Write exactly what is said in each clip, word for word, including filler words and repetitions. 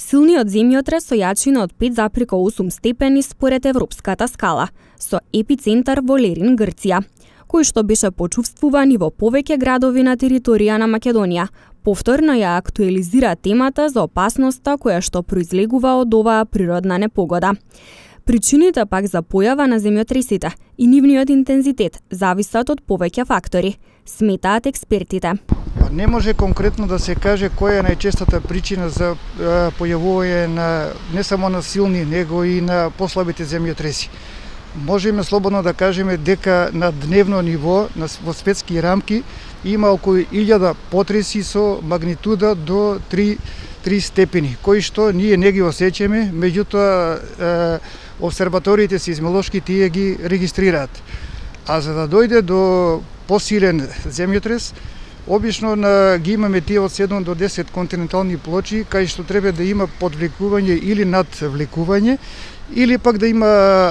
Силниот земјотрес со јачина од пет запирка осум степени според европската скала, со епицентар во Лерин, Грција, кој што беше почувствуван и во повеќе градови на територија на Македонија. Повторно ја актуализира темата за опасноста која што произлегува од оваа природна непогода. Причините пак за појава на земјотресите и нивниот интензитет зависат од повеќе фактори, сметаат експертите. Не може конкретно да се каже која е најчестата причина за појавување на не само на силни, него и на послабите земјотреси. Можеме слободно да кажеме дека на дневно ниво, во светски рамки, има околу илјада потреси со магнитуда до три степени, кои што ние не ги осеќаме, меѓутоа обсерваториите сеизмолошки тие ги регистрираат. А за да дојде до посилен земјотрес, обично на, ги имаме тие од седум до десет континентални плочи, кај што треба да има подвлекување или надвлекување, или пак да има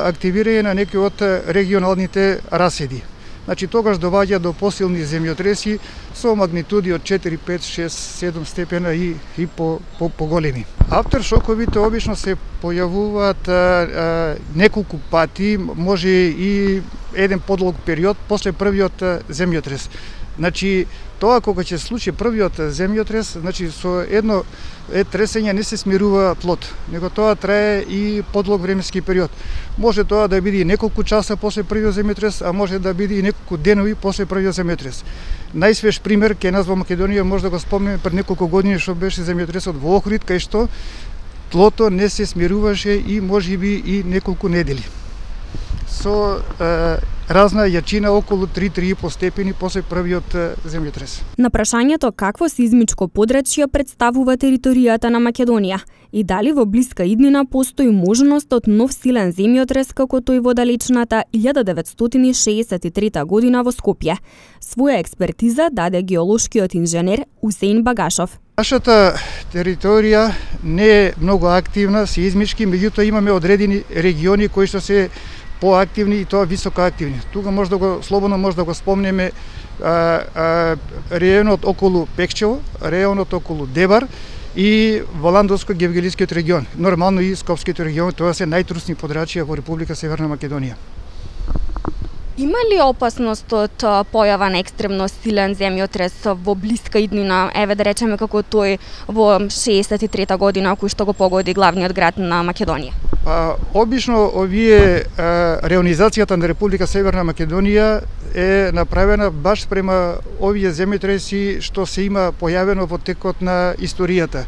активирање на некои од регионалните раседи. Значи, тогаш доваѓа до посилни земјотреси со магнитуди од четири, пет, шест, седум степена и, и по, по, по големи. Автершоковите обично се појавуваат а, а, неколку пати, може и еден подлог период после првиот земјотрес. Значи, тоа кога ќе случи првиот земјотрес, значи со едно е тресење не се смирува плод, него тоа трае и подлог временски период. Може тоа да биде и неколку часа после првиот земјотрес, а може да биде и неколку денови после првиот земјотрес. Најсвеж пример кај нас во Македонија може да го спомнеме пред неколку години што беше земјотресот во Охрид, кај што тлото не се смируваше и можеби и неколку недели. Со е, разна јачина околу три до три и по степени после првиот земјотрес. На прашањето какво сизмичко подрачје представува територијата на Македонија и дали во блиска иднина постои можност од нов силен земјотрес како тој во далечната илјада деветстотини шеесет и трета година во Скопје, своја експертиза даде геолошкиот инженер Усеин Багашов. Нашата територија не е многу активна, сеизмички, меѓутоа имаме одредени региони кои што се поактивни и тоа високо активни. Тука може да го слободно може да го спомнеме а, а, районот околу Пекчево, районот околу Дебар и Воландовско-Гевгелискиот регион. Нормално и Скопскиот регион, тоа се најтрусни подрачја во Република Северна Македонија. Има ли опасност од појава на екстремно силен земјотрес во блиска иднина, еве да речеме како тој во шеесет и трета година кој што го погоди главниот град на Македонија? А, обично овие а, реонизацијата на Република Северна Македонија е направена баш према овие земјотреси што се има појавено во текот на историјата.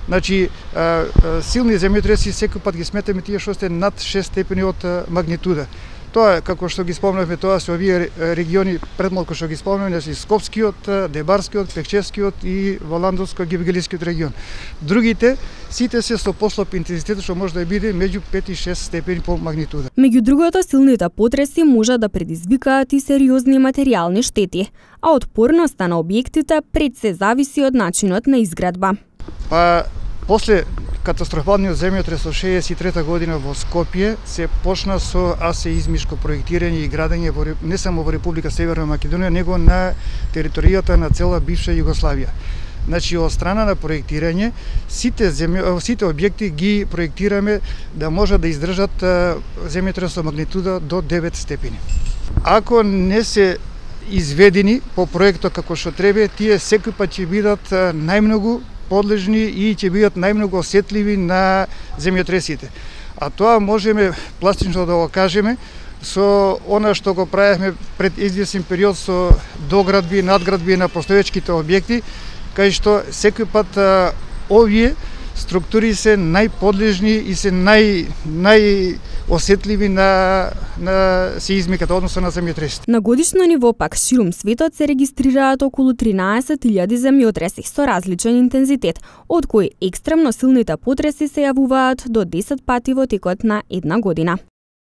Значи, а, а, силни земјотреси секој пат ги сметаме тие што се над шест степени од магнитуда. Тоа, како што ги спомнавме, тоа се овие региони предмалку што ги спомнавме, значи Скопскиот, Дебарскиот, Пекчевскиот и Воландовско-Гевгелискиот регион. Другите, сите се со послаб интензитет што може да биде меѓу пет и шест степени по магнитуда. Меѓу другото, силните потреси може да предизвикаат и сериозни материјални штети, а отпорноста на објектите пред се зависи од начинот на изградба. Па, после катастрофалниот земјотрес од шеесет и трета година во Скопје се почна со асеизмичко проектирање и градење во, не само во Република Северна Македонија, него на територијата на цела бивша Југославија. Значи, од страна на проектирање, сите, земјо, сите објекти ги проектираме да може да издржат земјотрес со магнитуда до девет степени. Ако не се изведени по проектот како што треба, тие секој пат ќе бидат најмногу подлежни и ќе бидат најмногу осетливи на земјотресите. А тоа можеме пластично да го кажеме со она што го правевме пред извесен период со доградби и надградби на постоечките објекти, кај што секој пат а, овие структури се најподлежни и се нај најосетливи на на сеизмиката, односно на земјотресите. На годишно ниво пак ширум светот се регистрираат околу тринаесет илјади земјотреси со различен интензитет, од кои екстремно силните потреси се јавуваат до десет пати во текот на една година.